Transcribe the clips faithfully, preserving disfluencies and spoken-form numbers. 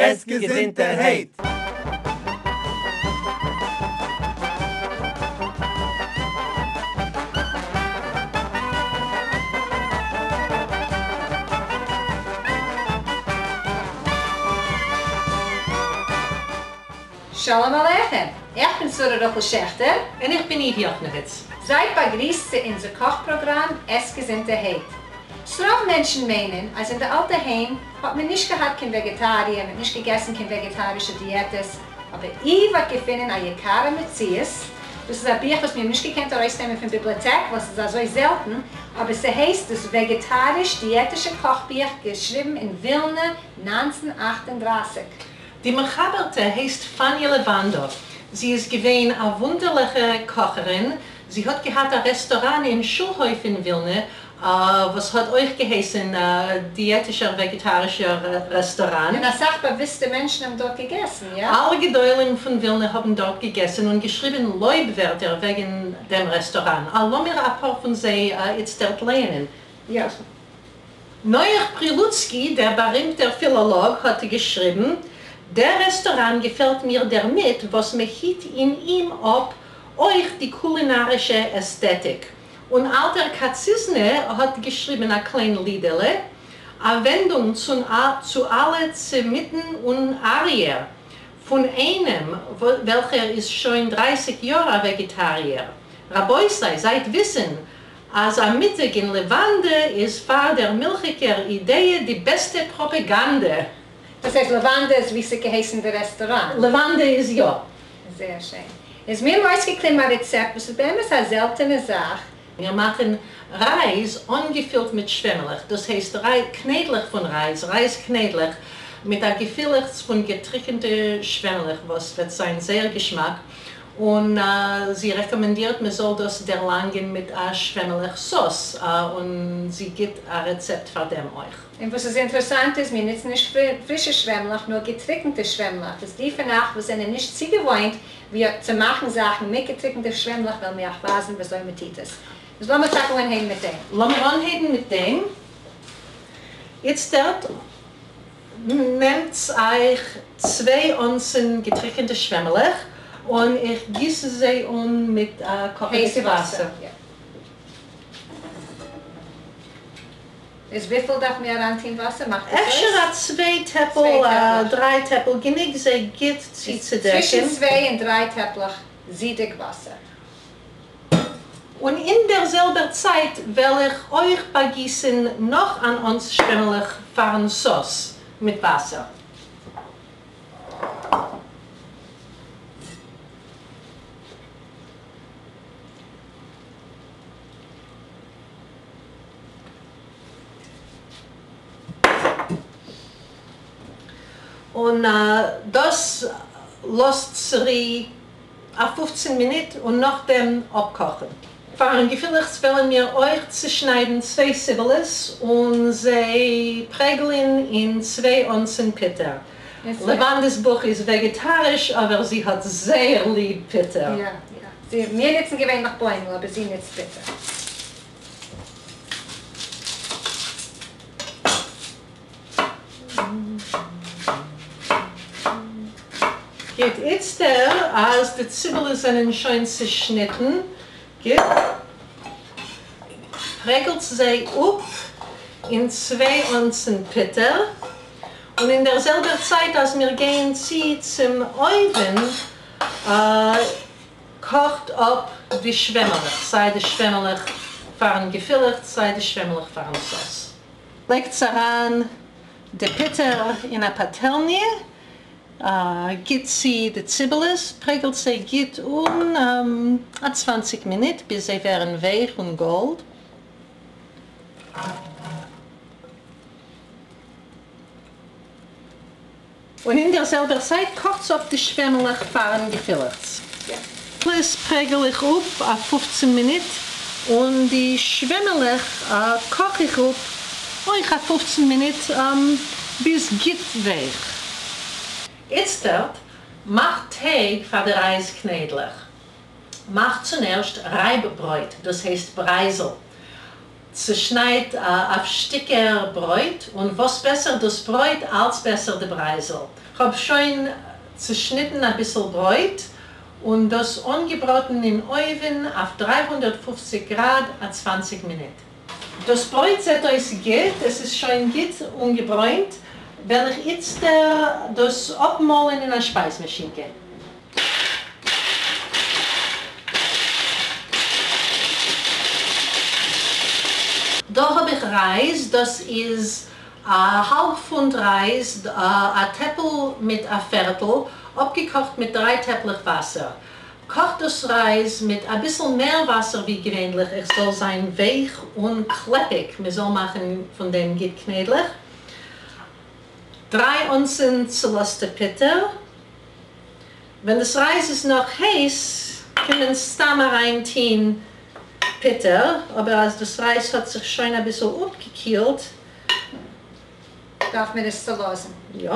עס געזונטערהייט! שלום עליכם! איך בין שרה רחל שעכטער. און איך בין איוו יאכנעוויץ. זייט באגריסט צו אונזער קאך פראגראם עס געזונטערהייט. ס'רוב מענטשן מיינען אז אין די אלטע היים האט מען נישט געהאט קיין וועגעטאריע, מען האט נישט געגעסן קיין וועגעטארישע דיעטעס, אבער איוו האט געפונען א יקרה מציאות, דאס איז א בוך וואס מיר האבן נישט געקענט ארויסנעמען פון ביבליאטעק ווייל ס'איז אזוי זעלטן, אבער ס'הייסט דאס וועגעטאריש-דיעטישע קאכבוך געשריבן אין ווילנע נײַנצן אַכט און דרײַסיק. די מחבר'טע הייסט פאניע לעוואנדא. זי איז געווען א וואונדערליכע קאכערין. זי האט געהאט א רעסטאראן אין שולהויף אין ווילנע, וואס האט אויך געהייסן דיעטישער וועגעטארישער רעסטאראן. און אסאך באוויסטע מענטשן האבן דארט געגעסן, יא? אלע גדולים פון ווילנע האבן דארט געגעסן און געשריבן לויב ווערטער וועגן דעם רעסטאראן. לאמיר אפאר פון זיי איצטערט לייענען. יא. נח פרילוצקי, דער בארימטער פילאלאג, האט געשריבן, דער רעסטאראן געפעלט מיר דערמיט, וואס מען היט אין אים אפ אויך די קולינארישע עסטעטיק. און אלטער קאציזנע האט געשריבן א קליין לידעלע, א ווענדונג צו אלע סעמיטן און אריער, פון איינעם, וועלכער איז שוין דרײַסיק יאר א וועגעטאריער. רבותי, זייט וויסן, אז א מיטאג אין לעוואנדע איז פאר דער מילכיגער אידעע די בעסטע פראפעגאנדע. דאס הייסט לעוואנדע איז ווי ס'געהייסן די רעסטוראנט? לעוואנדע איז יא. זייער שיין. איז מיר האבן אויסגעקליבן א רעצעפט וואס איז באמת א זעלטענע זאך. מיר מאכן רייז אנגעפילט מיט שוועמעלעך, דאס הייסט קניידלעך פון רייז, רייז קניידלעך מיט א געפילעכץ פון געטריקענטע שוועמעלעך וואס וועט זיין זייער געשמאק, און זי רעקאמענדירט מען זאל דאס דערלאנגען מיט א שוועמעלעך סאוס, און זי גיט א רעצעפט פאר דעם אויך. און וואס איז אינטערעסאנט איז, מיר נוצן נישט פרישע שוועמלעך, נאר געטריקנטע שוועמלעך. איז די פון אייך וואס זענען נישט צוגעוואוינט ווי צו מאכן זאכן מיט געטריקנטע שוועמלעך, וועלן מיר אייך ווייזן וויאזוי מען טוט עס. איז לאמיר טאקע אנהייבן מיט דעם. לאמיר אנהייבן מיט דעם. איצטערט נעמטס אייך צוויי אונסן געטריקנטע שוועמלעך און איך גיס זיי אן מיט א קאכעדיג וואסער. איז וויפיל דארף מען אריינטון וואסער? מאכט עס אויס? אפשר א צוויי טעפל, א דריי טעפל, גענוג זיי גוט צוצודעקן. צווישן צוויי און דריי טעפלעך זידיג וואסער. און אין דער זעלבער צייט וועל איך אויך באגיסן נאך אן אונס שוועמלעך פארן סאוס מיט וואסער. און דאס לאזט צורו א פֿופֿצן מינוט און נאכדעם אפקאכן. פארן געפילעכץ וועלן מיר אויך צושניידן צוויי ציבעלעס און זיי פרעגלען אין צוויי אונסן פוטער. לעוואנדעס בוך איז וועגעטאריש, אבער זי האט זייער ליב פוטער. יא יא. מיר נוצן געווענליך בוימל, אבער זי נוצט פוטער. גוט, איצטער אז די ציבעלעס זענען שוין צושניטן, גוט, פרעגלט זיי אפ אין צוויי אונסן פוטער, און אין דער זעלבער צייט אז מיר גייען צו צום אויוון, קאכט אפ די שוועמעלעך, סיי די שוועמעלעך פארן געפילעכץ, סיי די שוועמעלעך פארן סאוס. לייגטס אריין די פוטער אין א פאטעלניע, גיט צו די ציבעלעס, פרעגלט זיי גוט אן א צוואַנציק מינוט ביז זיי ווערן ווייך און גאלד. און אין דער זעלבער צייט קאכטס אפ די שוועמעלעך פארן געפילעכץ. דאס פרעגל איך אפ א פֿופֿצן מינוט, און די שוועמעלעך קאך איך אפ אויך א פֿופֿצן מינוט ביז גוט ווייך. איצטערט מאכט טייג פאר די רייז קניידלעך. מאכט צונערשט רייב ברויט, דאס הייסט ברייזל. צעשניידט אויף שטיקער ברויט, און וואס בעסער דאס ברויט, אלץ בעסער די ברייזל. כ'האב שוין צעשניטן אביסל ברויט און דאס אנגעבראטן אין אויוון אויף דרײַ הונדערט פֿופֿציק גראד א צוואַנציק מינוט. דאס ברויט זעט אויס גוט, עס איז שוין גוט אנגעברוינט, וועל איך איצטער דאס אפמאלן אין א שפייז-מאשינקע. דא האב איך רייז, דאס איז א האלב פונט רייז, א טעפל מיט א פערטל, אפגעקאכט מיט דריי טעפלעך וואסער. קאכט דאס רייז מיט אביסל מער וואסער ווי געווענליך, עס זאל זיין ווייך און קלעפיג, מען זאל מאכן פון דעם גוט קניידלעך. דריי אונסן צעלאזטע פוטער. ווען דאס רייז איז נאך הייס, קען מען סתם אריינטוהן פוטער, אבער אז דאס רייז האט זיך שוין אביסל אפגעקילט, דארף מען עס צעלאזן. יא.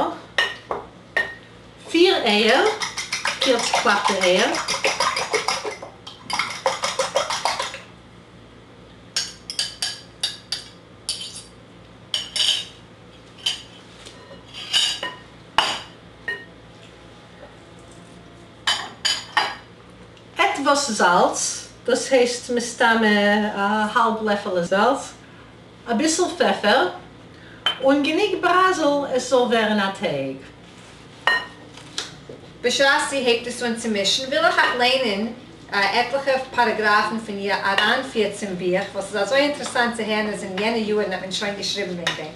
פיר אייער, פיר צעקלאפטע אייער. עטוואס זאלץ, דאס הייסט מסתמא א האלב לעפעלע זאלץ, אביסל פעפער, און גענוג ברייזל עס זאל ווערן א טייג. בשעת זי הייבט עס אן צו מישן, וויל איך אייך ליינען עטליכע פאראגראפן פון איר אריינפיר צום בוך, וואס איז אזוי אינטערעסאנט צו הערן אז אין יענע יארן האט מען שוין געשריבן וועגן דעם.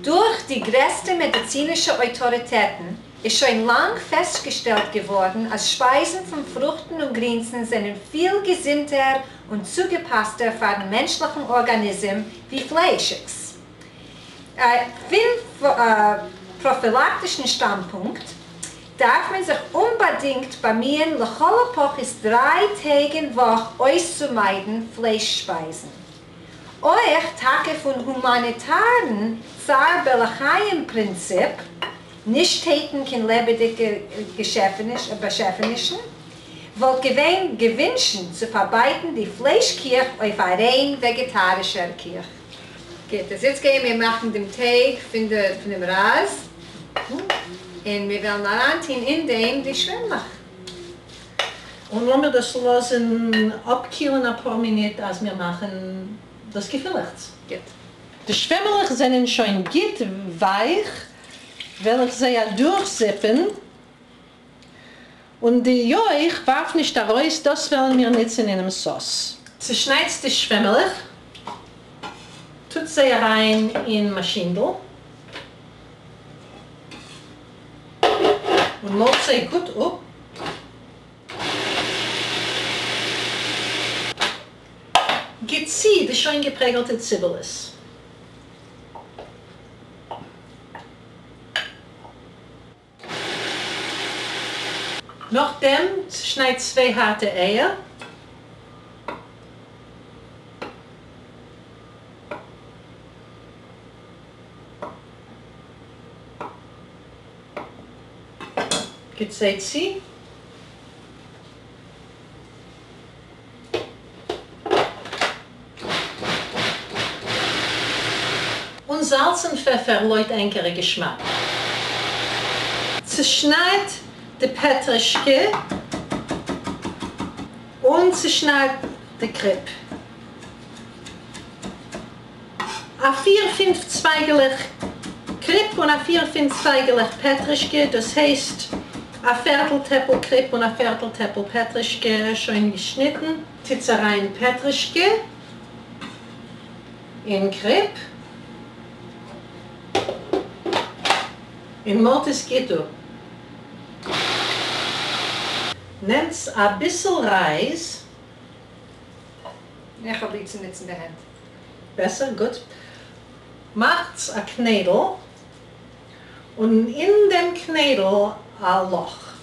דורך די גרעסטע מעדיצינישע אויטאריטעטן איז שוין לאנג פעסטגעשטעלט געווארן אז שפייזן פון פרוכטן און גרינסן זענען פיל געזונטער און צוגעפאסטער פארן מענטשליכן ארגאניזם ווי פליישיגס. פון פראפילאקטישן שטאנדפונקט דארף מען זיך אומבאדינגט באמיען לכל הפחות דריי טעג אין וואך אויסצומיידן פלייש שפייזן. אויך טאקע פון הומאניטארן צער בעלי חיים פרינציפ, נישט טייטן קיין לעבעדיגע באשעפענישן, וואלט געווען געווינטשן צו פארבייטן די פלייש קיך אויף א ריין וועגעטארישער קיך. גוט, איז איצט גייען מיר מאכן דעם טייג פון דעם רייז, און מיר וועלן אריינטון אין דעם די שוועמלעך. און לאמיר דאס לאזן אפקילן אפאר מינוט אז מיר מאכן דאס געפילעכץ. גוט. די שוועמלעך זענען שוין גוט ווייך, וועל איך זיי אדורכזיפן, און די יויך ווארף נישט ארויס, דאס וועלן מיר נוצן אינעם סאוס. צעשניידט די שוועמלעך, טוט זיי אריין אין מאשינדל, און מאלט זיי גוט אפ. גיט צו די שוין געפרעגלטע ציבעלעס. נאכדעם צעשניידט צוויי הארטע אייער. גיט זיי צו. און זאלץ און פעפער לויט ענקערע געשמאק. צעשניידט די פעטרישקע און צעשניידט די קריפ. א פיר פינף צווייגעלעך קריפ און א פיר פינף צווייגעלעך פעטרישקע, דאס הייסט א פערטל טעפל קריפ און א פערטל טעפל פעטרישקע שוין געשניטן. טוטס אריין פעטרישקע אין קריפ און מאלט עס גוט אפ. נעמטס אביסל רייז. איך האב ליב צו נוצן די הענט. בעסער, גוט. מאכטס א קניידל, און אין דעם קניידל א לאך.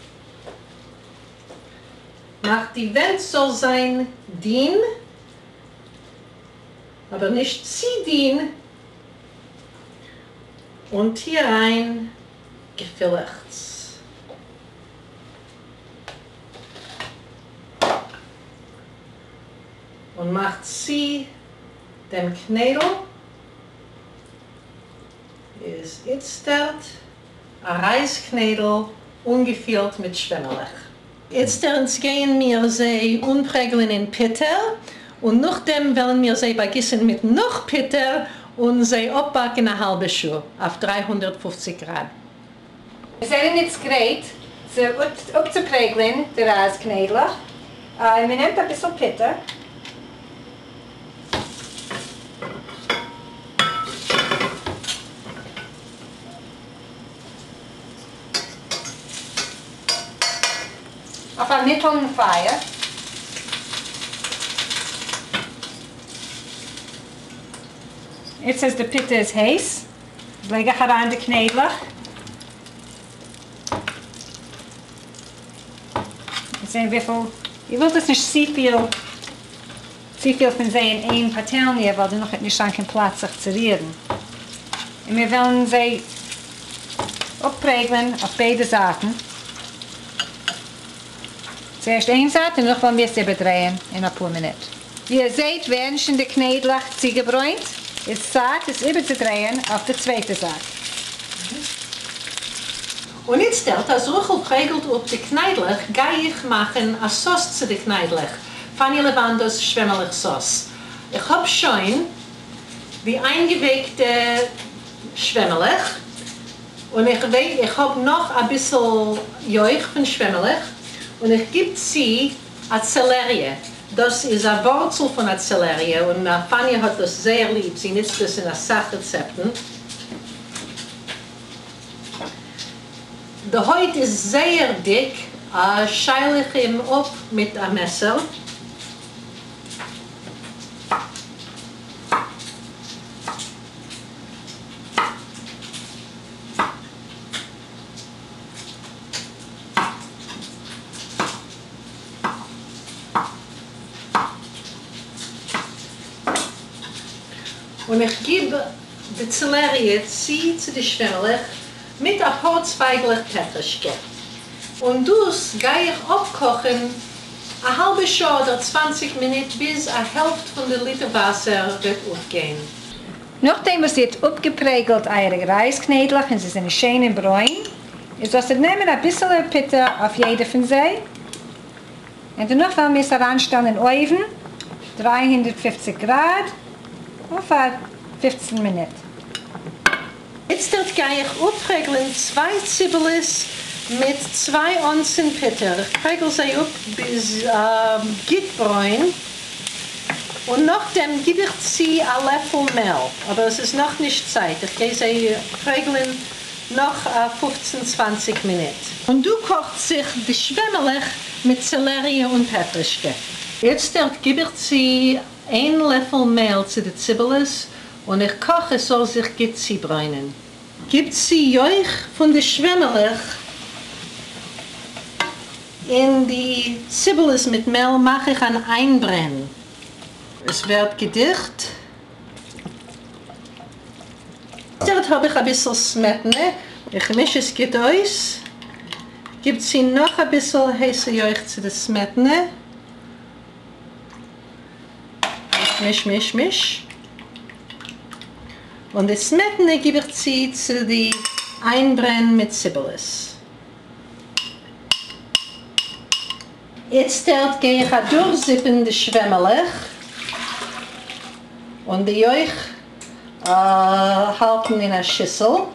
מאכט די ווענט זאל זיין דין, אבער נישט צו דין, און טו אריין געפילעכץ. און מאכט צו דעם קניידל. איז איצטערט אַ רײַזקניידל אָנגעפֿילט מיט שוועמעלעך. איצטערט גייען מיר זיי אָנפּרעגלען אין פּוטער און נאָך דעם וועלן מיר זיי באַגיסן מיט נאָך פּוטער און זיי אָפּבאַקן אַ האַלבע שעה אויף דרײַ הונדערט פֿופֿציק גראַד. מיר זענען איצט גרייט צו אָפּצופּרעגלען די רײַזקניידלעך. מען נעמט אַ ביסל פּוטער. אויף אַ מיטעלן פֿײַער. איצט אַז די פּוטער איז הייס, לייג איך אַרײַן די קניידלעך. זען וויפֿל, איר ווילט עס נישט צו פֿיל, צו פֿיל פֿון זיי אין איין פּאַטעלניע, ווײַל דערנאָך וועט נישט זײַן קיין פּלאַץ זיך צו רירן. און מיר וועלן זיי אָפּפּרעגלען אויף ביידע זײַטן. צוערשט איין זײַט און דערנאָך וועלן מיר עס איבערדרייען אין אַ פּאָר מינוט. ווי איר זעט, ווערן שוין די קניידלעך צוגעברוינט, איז צײַט עס איבערצודרייען אויף דער צווייטער זײַט. און איצטערט, אַז רחל פּרעגלט אָפּ די קניידלעך, גיי איך מאַכן אַ סאָס צו די קניידלעך, פֿאַני לעוואַנדאָס שוועמעלעך-סאָס. איך האָב שוין די אײַנגעווייקטע שוועמעלעך, און איך איך האָב נאָך אַ ביסל יויך פֿון שוועמעלעך, און איך גיב צו אַ צעלעריע. דאָס איז אַ וואָרצל פֿון אַ צעלעריע, און פֿאַני האָט דאָס זייער ליב. זי ניצט דאָס אין אַ סך רעצעפּטן. די הויט איז זייער דיק, שייל איך אים אָפּ מיט אַ מעסער. און איך גיב די צעלעריע צו צו די שוועמעלעך מיט אַ פּאָר צווײַגלעך פּעטרעשקע. און דאָס גיי איך אָפּקאָכן אַ האַלבע שעה אָדער צוואַנציק מינוט, ביז אַ העלפֿט פֿון די ליטער וואַסער וועט אָפּגיין. נאָך דעם וואָס איר האָט אָפּגעפּרעגלט אײַערע רײַזקניידלעך און זיי זענען שיין און ברוין, איז זאָלט איר נעמען אַ ביסעלע פּוטער אויף יעדע פֿון זיי. און דערנאָך וועלן מיר עס אַרײַנשטעלן אין אויוון, דרײַ הונדערט פֿופֿציק גראַד, אויף אַ פֿופֿצן מינוט. איצטערט גיי איך אָפּפּרעגלען צוויי ציבעלעס מיט צוויי אונסן פּוטער. איך פּרעגל זיי אָפּ ביז גוט ברוין. און נאָך דעם גיב איך צו אַ לעפֿל מעל. אָבער עס איז נאָך נישט צײַט. איך גיי זיי פּרעגלען נאָך פֿופֿצן, צוואַנציק מינוט. און דאָ קאָכט זיך די שוועמעלעך מיט צעלעריע און פּעטרישקע. איצטערט גיב איך צו איין לעפֿל מעל צו די ציבעלעס און איך קאָך, עס זאָל זיך גוט צוברוינען. גיב צו יויך פֿון די שוועמעלעך אין די ציבעלעס מיט מעל, מאַך איך אַן אײַנברען. עס ווערט געדיכט. איצטערט האָב איך אַ ביסל סמעטענע. איך מיש עס גוט אויס. גיב צו נאָך אַ ביסל הייסע יויך צו די סמעטענע. מיש, מיש, מיש. און די סמעטענע גיב איך צו צו די אײַנברען מיט ציבעלעס. איצטערט גיי איך אַדורכזיפּן די שוועמעלעך און די יויך האַלטן אין אַ שיסל.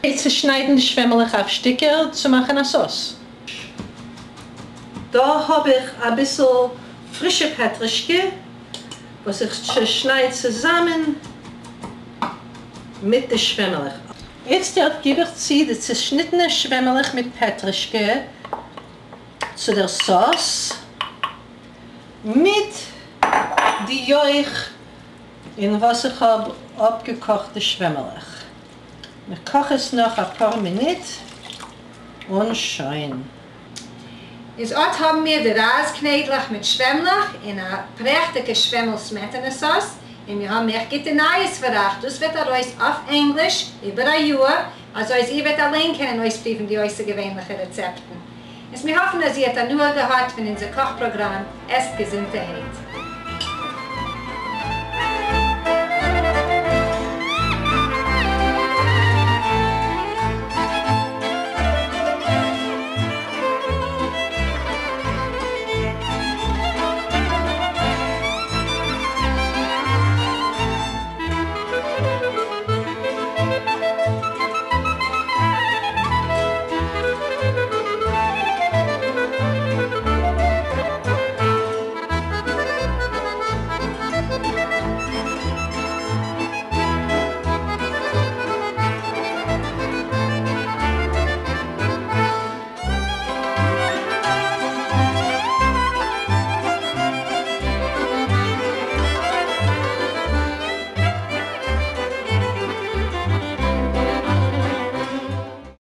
צעשנײַדן די שוועמעלעך אויף שטיקער צו מאַכן אַ סאָס. דאָ האָב איך אַ ביסל פֿרישע פּעטרישקע, וואָס איך צעשנײַד צוזאַמען מיט די שוועמעלעך. איצטערט גיב איך צו די צעשניטענע שוועמעלעך מיט פּעטרישקע צו דער סאָס מיט די יויך, אין וואָס איך האָב אָפּגעקאָכט די שוועמעלעך. איך קאָך עס נאָך אַ פּאָר מינוט און שוין. איז אָט האָבן מיר די רײַזקניידלעך מיט שוועמלעך אין אַ פּרעכטיקע שוועמל-סמעטענע-סאָס. און מיר האָבן אויך גוטע נײַעס פֿאַר אײַך. דאָס וועט אַרויס אויף ענגליש איבער אַ יאָר, אַזוי אַז איר וועט אַליין קענען אויספּרוּוון די אויסערגעוויינלעכע רעצעפּטן. איז מיר האָפֿן, אַז איר האָט הנאה געהאַט פֿון אונדזער קאָך-פּראָגראַם עסט געזונטערהייט.